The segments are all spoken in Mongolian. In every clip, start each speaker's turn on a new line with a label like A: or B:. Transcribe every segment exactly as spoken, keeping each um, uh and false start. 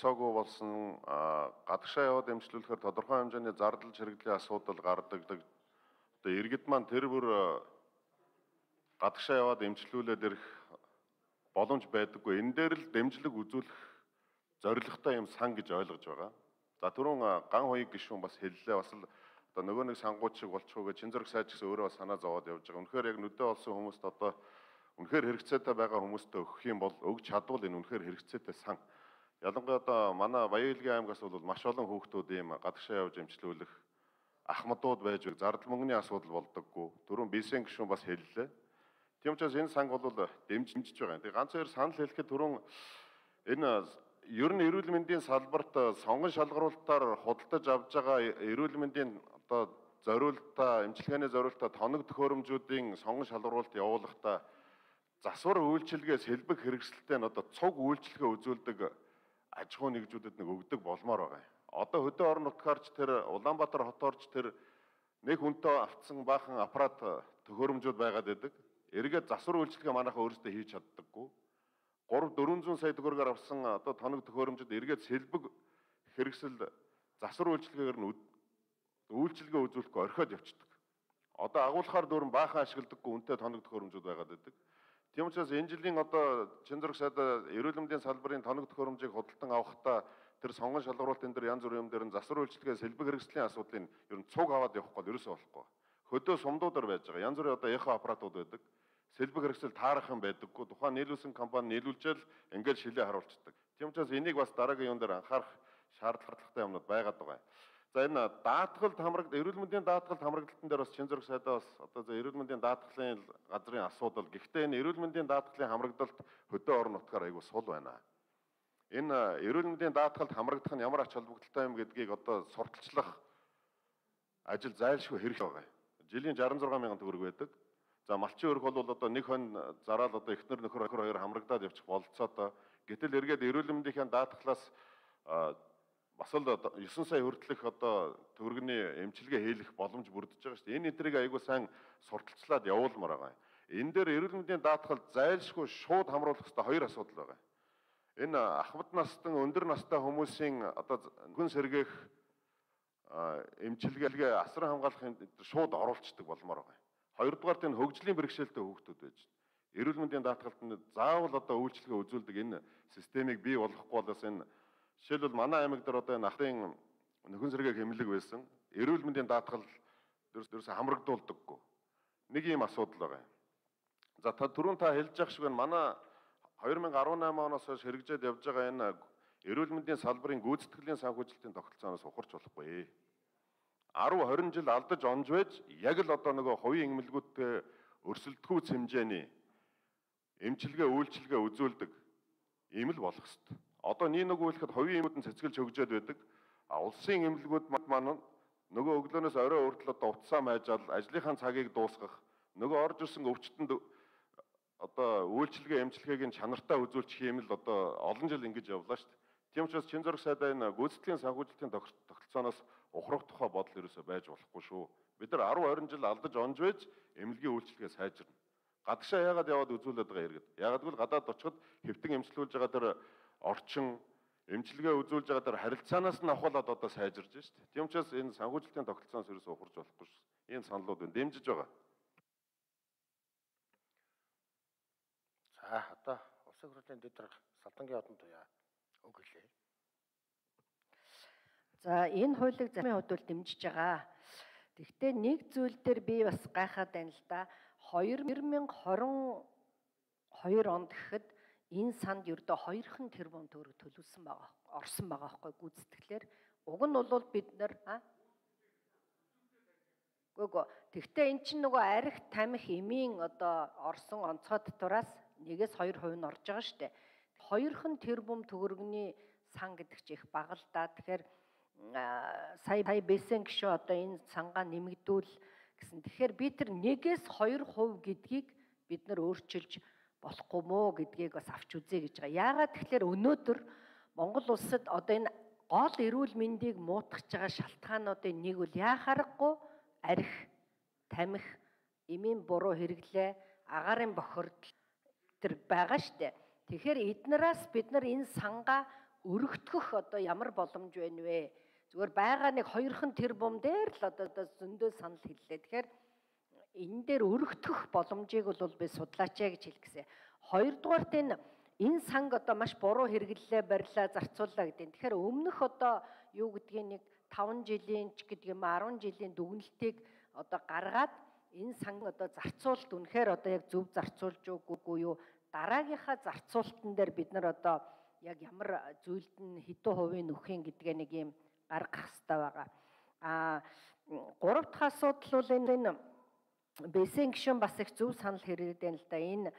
A: болцоогүй болсон гадагшаа яваад эмчлүүлэхээр тодорхой хэмжээний зардал чирэгдлийн асуудал гардаг. Одоо иргэд маань тэр бүр гадагшаа яваад эмчлүүлээд ирэх боломж байдаггүй. Энэ дээр л дэмжлэг үзүүлэх зорилготой юм сан гэж ойлгож байгаа. За түрүүн ган хуйг гишүүн бас хэллээ. Бас л одоо нөгөө нэг сангууд шиг болчихоо гэж чин зэрэг сайж гэсэн өөрөө санаа зовоод явж байгаа. Үнэхээр яг нүдэ олсон хүмүүст одоо үнэхээр хэрэгцээтэй байгаа хүмүүстээ өгөх юм бол өгч чадвал энэ үнэхээр хэрэгцээтэй сан. Ялангуяа одоо манай Баян-Илгийн аймгаас бол маш олон хүүхдүүд ийм гадагшаа явж эмчлүүлэх ахмадууд байж зардал мөнгөний асуудал болдоггүй. Түрүүн Бисен гишүүн бас хэллээ. Тийм учраас энэ санг бол дэмжиж байгаа. Тэгээ ганц хоёр санал хэлэхэд түрүүн энэ ер нь эрүүл мэндийн салбарт сонгон шалгаруулалтаар худалдаж авж байгаа эрүүл мэндийн одоо зориулалтаа, эмчилгээний зориулалтаа тоног төхөөрөмжүүдийн сонгон шалгаруулалт явуулахдаа засвар үйлчилгээс хэлбэг хэрэгсэлтэй нь одоо цуг үйлчилгээ үзүүлдэг аж ахуй нэгжүүдэд нэг өгдөг болмоор байгаа. Одоо хөдөө орон нутгаарч тэр Улаанбаатар хотоорч тэр нэг хүнтэй автсан баахан аппарат төхөөрөмжүүд байгаад байдаг. Эргээд засвар үйлчилгээ манайхаа өөрсдөө хийж чаддаггүй. гурав дөрвөн зуун сая төгрөгөөр авсан одоо тоног төхөөрөмжөд эргээд сэлбэг хэрэгсэл засвар үйлчилгээгээр нь үйлчилгээ үзүүлэхгүй орхиод явцдаг. Одоо агуулхаар дөрвөн баахан ашигладаггүй үнэтэй тоног төхөөрөмжүүд байгаад байдаг. Тийм учраас энэ жилийн одоо чин зэрэг сайд эрүүл мэндийн салбарын тоног төхөөрөмжийг худалдан авахдаа тэр сонгон шалгаруулалтын дээр янз бүрийн юм дээр нь засвар үйлчилгээ сэлбэг хэрэгслийн асуудлыг ер нь цуг аваад явахгүй бол ерөөсөө болохгүй. Хөдөө сумдуудаар байж байгаа. Янз бүрийн одоо эхо аппаратууд байдаг. Сэлбэг хэрэгсэл таарах юм байдаггүй. Тухайн нийлүүлсэн компани нийлүүлжэл ингээд шилээ харуулцдаг. Тийм учраас энийг бас дараагийн юм дээр анхаарах шаардлагатай юмнууд байгаад байгаа. За энэ даатгалд хамрагд эрүүл мэндийн даатгалд хамрагдалтын дээр бас чин зэрэг сайдаа бас одоо за эрүүл мэндийн даатгалын газрын асуудал. Гэхдээ энэ эрүүл мэндийн даатгалын хамрагдалт хөдөө орон нутгаар айгүй сул байна. Энэ эрүүл мэндийн даатгалд хамрагдах нь ямар ач холбогдолтой юм гэдгийг одоо сурталчлах ажил зайлшгүй хэрэг байгаа. Жилийн шаран зургаан мянган төгрөг байдаг. За малчин өрх бол одоо нэг хон зараал одоо эхнэр нөхөр хоёр хамрагдаад явчих болцоотой. Гэтэл эргээд эрүүл мэндийн даатгалаас бас л есөн сая хүртэлх одоо төгрөгийн эмчилгээ хийх боломж бүрдэж байгаа шүү дээ. Энэ эдрийг айгүй сайн сурталчлаад явуулмаар байгаа. Энэ дээр эрүүл мэндийн даатгал зайлшгүй шууд хамруулах хэрэгтэй хоёр асуудал байгаа. Энэ ахмад настан өндөр настай хүмүүсийн одоо хүн сэргээх эмчилгээ асран хамгаалахын шууд оруулцдаг болмоор байгаа. Хоёрдугаарт энэ хөгжлийн бэрхшээлтэй хүүхдүүд байж байна. Эрүүл мэндийн даатгалд нь заавал одоо үйлчилгээ үзүүлдэг энэ системийг бий болгохгүй болоос энэ жишээлбэл манай аймаг дээр одоо энэ ахын нөхөн сэргээх эмнэлэг байсан. Эрүүл мэндийн даатгал дөрөс хамрагдуулдаггүй. Нэг ийм асуудал байгаа. За та түрүүн та хэлж явах шиг байна. Манай две тысячи десять оноос хойш хэрэгжээд явж байгаа энэ эрүүл мэндийн салбарын гүйцэтгэлийн санхүүжилтийн тогтолцооноос ухарч болохгүй. десять двадцать жил алдаж онж байж яг л одоо нөгөө хувийн эмнэлгүүдтэй өрсөлдөхүйц хэмжээний эмчилгээ үйлчилгээ үзүүлдэг ийм л болох хэвээр. Одоо нэг нэг үйлхэд хувийн эмнэлгүүд нь цэцгэлж хөгжөөд байдаг. А улсын эмнэлгүүд маань нөгөө өглөөнөөс орой хүртэл одоо утсаа майжаал ажлынхаа цагийг дуусгах, нөгөө орж ирсэн өвчтөнд одоо үйлчилгээ эмчилгээг нь чанартай үзүүлчих юм л одоо олон жил ингэж явлаа шүү дээ. Тийм учраас чин зэрэг сайдаа энэ гүйцэтгэлийн санхүүжилтийн тогтолцооноос ухрах тухай бодол ерөөсөй байж болохгүй шүү. Бид нар десять двадцать жил алдаж онж байж эмнэлгийн үйлчилгээ сайжирна. Гадагшаа яагаад яваад үзүүлээд байгаа иргэд? Яагаад гэвэл гадаад очиход хэвтэн эмчилүүлж байгаа тэр орчин эмчилгээ үзүүлж байгаа тэр харилцаанаас нь авахлаад одоо сайжирж байна шүү дээ. Тийм учраас энэ санхүүжилтийн тогтолцооноос ерөөсөй ухарч болохгүй шүү. Энэ саналууд энэ дэмжиж байгаа.
B: За одоо улсын хурлын дэд Салдангийн одон туяа үг хэлээ.
C: За энэ хуулийг зарим хувьд бол дэмжиж байгаа. Гэхдээ нэг зүйл дээр би бас гайхаад байна л да. две тысячи двадцать хоёр онд гэхэд энэ санд ердөө хоёрхан тэрбум төгрөг төлөвлөсөн байгаа. Орсон байгаа байхгүй гүйцэтгэлээр. Уг нь бол бид нар а Гүгөө. Тэгвэл эн чинь нөгөө арх тамхи эмийн одоо орсон онцгой татвараас нэгээс хоёр хувь нь орж байгаа шүү дээ. Хоёрхан тэрбум төгрөгийн сан гэдэг чинь их бага л да. Тэгэхээр сая сая бэсэн гişүү одоо энэ сангаа нэмэгдүүл гэсэн. Тэгэхээр би тэр нэгээс хоёр хувь гэдгийг бид нар өөрчилж болохгүй мó гэдгийг бас авч үзье гэж байгаа. Яагаад тэгэхээр өнөөдөр Монгол улсад одоо энэ гол эрүүл мэндийг муутгаж байгаа шалтгаануудын нэг бол яхаарахгүй арх, тамхи, эмийн буруу хэрэглээ, агаарын бохирдол тэр байгаа штэ. Тэгэхээр эднээс бид нар энэ сангаа өргөтгөх одоо ямар боломж байна вэ? Зүгээр байгаа нэг хоёрхан тэрбум дээр л одоо одоо зөндөө санал хэллээ. Тэгэхээр энэ дээр өргөтгөх боломжийг бол би судлаач яа гэж хэлгэсэн. Хоёрдугаарт энэ энэ санг одоо маш буруу хэрэглэлээ барьлаа, зарцууллаа гэдэг. Тэгэхээр өмнөх одоо юу гэдгийг нэг таван жилийн ч гэдэг юм арван жилийн дүгнэлтийг одоо гаргаад энэ санг одоо зарцуулалт үнэхээр одоо яг зөв зарцуулж үгүй юу? Дараагийнхаа зарцуулалтан дээр бид нар одоо яг ямар зүйлд нь хэдэн хувийн нөхөн гэдгээ нэг юм гаргах хэрэгтэй байгаа. А гурав дахь асуудал бол энэ Бэсэн гишүүн бас их зөв санал хэрэглэдэг юм л да. Энэ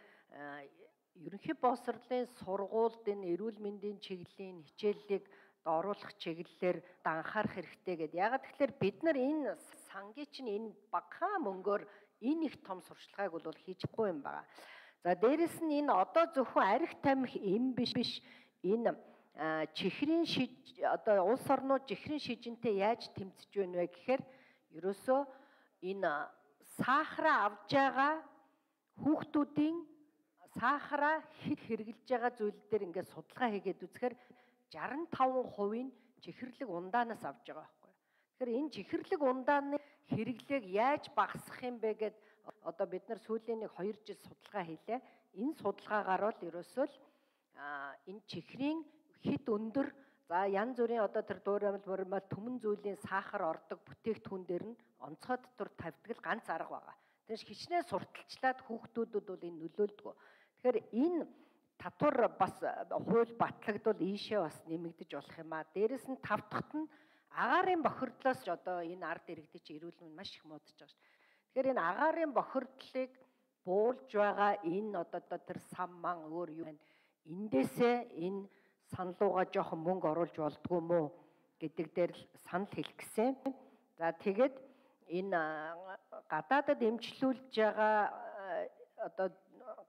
C: ерөнхий боловсролын сургуульд энэ эрүүл мэндийн чиглэлийн хичээллийг оруулах чиглэлээр анхаарах хэрэгтэй гэдэг. Ягаад тэгэхээр бид нар энэ сангийн чинь энэ багахан мөнгөөр энэ их том сурчлагыг бол хийчихгүй юм байна. За дээрэс нь энэ одоо зөвхөн арх тамхи эм биш биш энэ чихрийн шиж одоо улс орнууд чихрийн шижинтэй яаж тэмцэж байна вэ гэхээр ерөөсөө энэ сахараа авж байгаа хүүхдүүдийн сахараа хэд хэрэглэж байгаа зүйл дээр ингээд судалгаа хийгээд үзэхээр жаран таван хувийн чихэрлэг ундаанаас авж байгаа байхгүй. Тэгэхээр энэ чихэрлэг ундааны хэрэглээг яаж багасгах юм бэ гэд одоо бид нар сүүлийн нэг хоёр жил судалгаа хийлээ. Энэ судалгаагаар бол ерөөсөө л энэ чихрийн хэд өндөр за янз бүрийн одоо тэр дуурамл мөрмөл түмэн зүйлийн сахар ордог бүтээгдэхүүн дээр нь онцгой дотор тавьдаг л ганц арга байгаа. Тэгэж хичнээн сурталчлаад хүүхдүүдэд бол энэ нөлөөлдөг. Тэгэхээр энэ татвар бас хууль батлагдвал ийшээ бас нэмэгдэж болох юм аа. Дээрэс нь тав дахьт нь агаарын бохирдлоос ч одоо энэ ард иргэдэд чи эрүүл мэнд маш их муудаж байгаа шүү дээ. Тэгэхээр энэ агаарын бохирдлыг буулж байгаа энэ одоо тэр сам ман өөр юу байна? Эндээсээ энэ саналууга жоохон мөнгө оруулж болдгоо мó гэдэг дээр л санал хэлэх гэсэн. За тэгээд энэ гадаадад эмчлүүлж байгаа одоо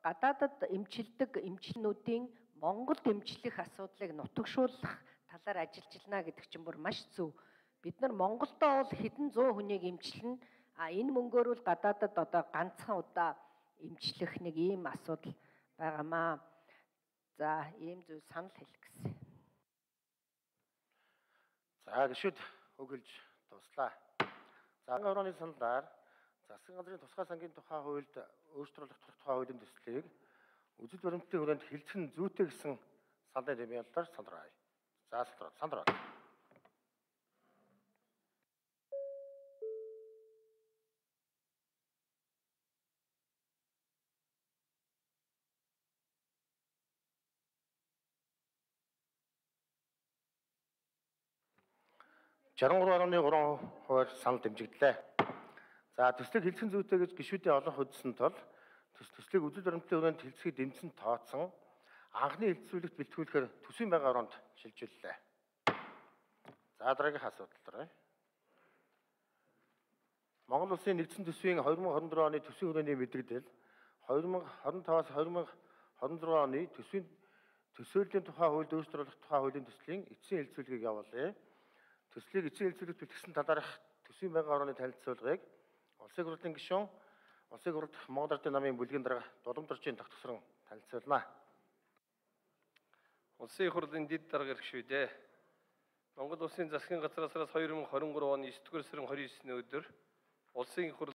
C: гадаадад эмчилдэг эмчилнүүдийн Монголд эмчлэх асуудлыг нутагшуулах талаар ажиллаж байна гэдэг чинь бүр маш зөв. Бид нар Монголдоо бол хэдэн зуун хүнийг эмчилнэ. А энэ мөнгөөр бол гадаадад одоо ганцхан удаа эмчлэх нэг ийм асуудал байгаамаа. За ийм зөв санал хэлэх гэсэн.
B: За гişүүд өгүүлж дуслаа. За орооны саналаар засгийн газрын тусгай сангийн тухай хуульд өөрчлөлт тухай хуулийн төслийг үзэл баримтлалын хүрээнд хилцэн зүйтэй гэсэн саналын тэмдэглэлээр сандраа. За сандраа. Сандраа. шестьдесят три гаруй гурван хувиар санал дэмжигдлээ. За төслийг хилцэн зүйтэй гэж гишүүдийн олон хөдөлсөн тул төслийг үзэл баримтлалын хүрээнд хилцэхийг дэмжсэн тооцсон анхны хилцүүлэгт бэлтгүүлэхээр төсвийн байнгын ороонд шилжүүллээ. За дараагийн асуудал руу. Монгол Улсын нэгдсэн төсвийн две тысячи двадцать четыре оны төсвийн хүрээний мэдээлэл две тысячи двадцать пять-аас две тысячи двадцать шесть оны төсвийн төсөөллийн тухай хуульд өөрчлөлт тухай хуулийн төслийн эцсийн хилцүүлгийг явуулъя. Төслийг эцсийн хилцүүлэгт бэлтгэсэн талаарх төсвийн байнгын орооны танилцуулгыг Улсын хурлын гишүүн Улсын хурлд Монгол Ардын намын бүлгийн дарга Дулам-Доржийн тогтворсон танилцуулна.
D: Улсын хурлын дэд дарга гишүүдээ Монгол Улсын засгийн газраас two thousand twenty-three оны ninth сарын twenty-ninth-ны өдөр Улсын хурл